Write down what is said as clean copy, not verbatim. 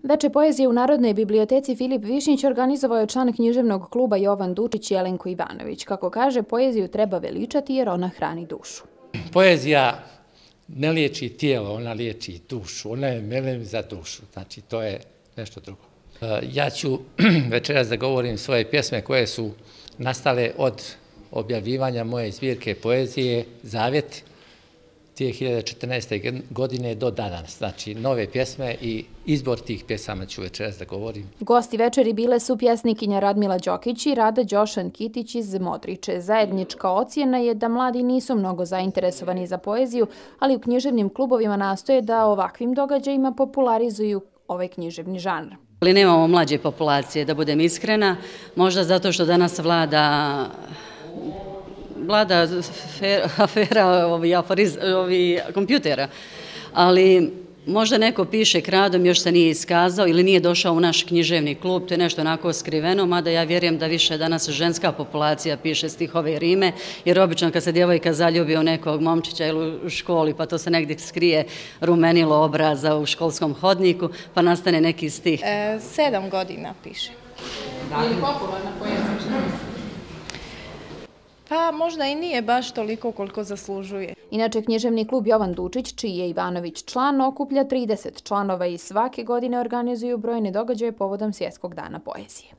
Veče poezije u Narodnoj biblioteci Filip Višnjić organizovao je član književnog kluba Jovan Dučić i Jelenko Ivanović. Kako kaže, poeziju treba veličati jer ona hrani dušu. Poezija ne liječi tijelo, ona liječi dušu. Ona je melem za dušu. Znači, to je nešto drugo. Ja ću večeras da govorim svoje pjesme koje su nastale od objavljivanja moje zbirke poezije Zavjet 2014. godine do danas. Znači, nove pjesme i izbor tih pjesama ću večeras da govorim. Gosti večeri bile su pjesnikinja Radmila Đokić i Rada Đošan-Kitić iz Modriče. Zajednička ocjena je da mladi nisu mnogo zainteresovani za poeziju, ali u književnim klubovima nastoje da ovakvim događajima popularizuju ovaj književni žanr. Ali nemamo mlađe populacije, da budem iskrena, možda zato što danas vlada afera kompjutera, ali možda neko piše kradom, još se nije iskazao ili nije došao u naš književni klub, to je nešto onako skriveno, mada ja vjerujem da više danas ženska populacija piše stihove i rime, jer obično kad se djevojka zaljubi u nekog momčića ili u školi, pa to se negdje skrije rumenilo obraza u školskom hodniku, pa nastane neki stih. 7 godina piše. Je li popularna poezija? Pa možda i nije baš toliko koliko zaslužuje. Inače, književni klub Jovan Dučić, čiji je Ivanović član, okuplja 30 članova i svake godine organizuju brojne događaje povodom Svjetskog dana poezije.